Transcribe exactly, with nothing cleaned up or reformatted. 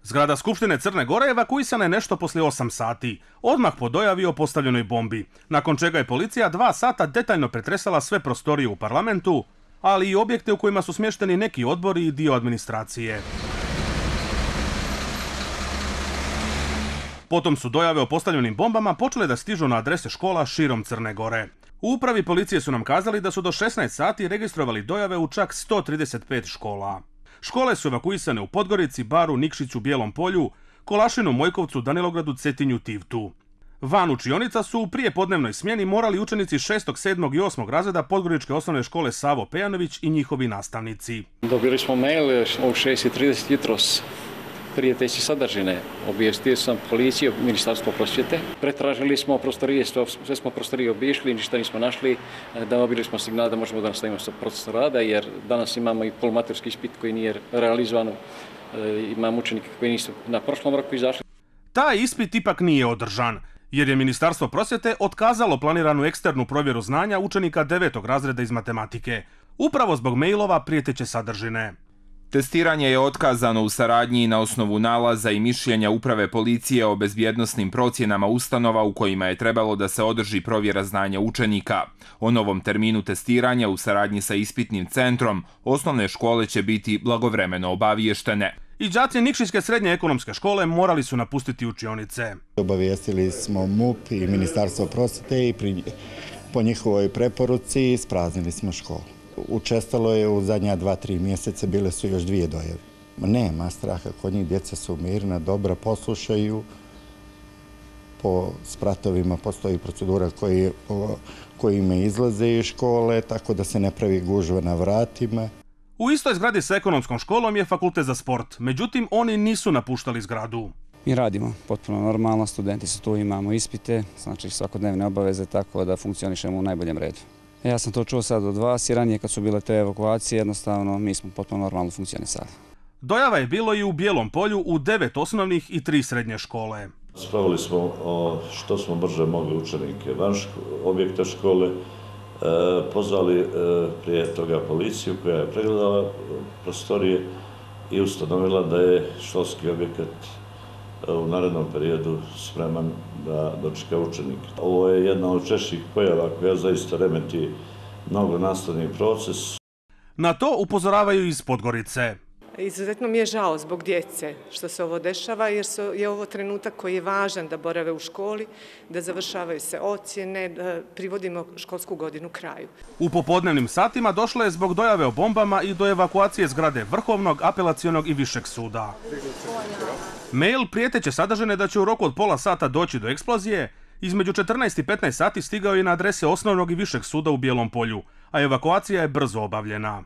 Zgrada Skupštine Crne Gore evakuisana je nešto poslije osam sati, odmah po dojavi o postavljenoj bombi, nakon čega je policija dva sata detaljno pretresala sve prostorije u parlamentu, ali i objekte u kojima su smješteni neki odbori i dio administracije. Potom su dojave o postavljenim bombama počele da stižu na adrese škola širom Crne Gore. U upravi policije su nam kazali da su do šesnaest sati registrovali dojave u čak sto trideset pet škola. Škole su evakuisane u Podgorici, Baru, Nikšiću, Bijelom Polju, Kolašinu, Mojkovcu, Danilogradu, Cetinju, Tivtu. Van učionica su u prijepodnevnoj smjeni morali učenici šestog, sedmog i osmog razreda Podgoričke osnovne škole Savo Pejanović i njihovi nastavnici. Dobili smo mail u šest i trideset jutros. Prijeteći sadržine. Obavijestio sam policiju, Ministarstvo prosvjete. Pretražili smo prostorije, sve smo prostorije obišli, ništa nismo našli. Dobili smo signal da možemo da nastavimo sa procesom rada, jer danas imamo i polumaturski ispit koji nije realizovan. Imamo učenike koji nisu na prošlom roku izašli. Taj ispit ipak nije održan, jer je Ministarstvo prosvjete otkazalo planiranu eksternu provjeru znanja učenika devetog razreda iz matematike, upravo zbog mailova prijeteće sadržine. Testiranje je otkazano u saradnji na osnovu nalaza i mišljenja Uprave policije o bezbjednosnim procjenama ustanova u kojima je trebalo da se održi provjera znanja učenika. O novom terminu testiranja u saradnji sa ispitnim centrom osnovne škole će biti blagovremeno obaviještene. I đaci Nikšićke srednje ekonomske škole morali su napustiti učionice. Obavijestili smo M U P i Ministarstvo prosvjete i pri, po njihovoj preporuci ispraznili smo školu. Učestalo je u zadnja dva, tri mjeseca, bile su još dvije dojave. Nema straha, kod njih djeca su mirna, dobra, poslušaju. Po spratovima postoji procedura koji, kojima izlaze iz škole, tako da se ne pravi gužva na vratima. U istoj zgradi sa ekonomskom školom je fakultet za sport, međutim oni nisu napuštali zgradu. Mi radimo potpuno normalno, studenti su tu, imamo ispite, znači svakodnevne obaveze, tako da funkcionišemo u najboljem redu. Ja sam to čuo sad od vas i ranije kad su bile te evakuacije, jednostavno mi smo potpuno normalno funkcionisali. Dojava je bilo i u Bijelom Polju u devet osnovnih i tri srednje škole. Spravili smo o što smo brže mogli učenike van objekta škole, pozvali prije toga policiju koja je pregledala prostorije i ustanovila da je školski objekat u narednom periodu spreman da dočeka učenika. Ovo je jedna od češćih pojava koja zaista remeti mnogo nastavni proces. Na to upozoravaju iz Podgorice. Izuzetno mi je žao zbog djece što se ovo dešava, jer je ovo trenutak koji je važan da borave u školi, da završavaju se ocjene, da privodimo školsku godinu kraju. U popodnevnim satima došlo je zbog dojave o bombama i do evakuacije zgrade Vrhovnog, Apelacionog i Višeg suda. Mail prijeteće sadržine da će u roku od pola sata doći do eksplozije, između četrnaest i petnaest sati stigao je na adrese Osnovnog i Višeg suda u Bijelom Polju, a evakuacija je brzo obavljena.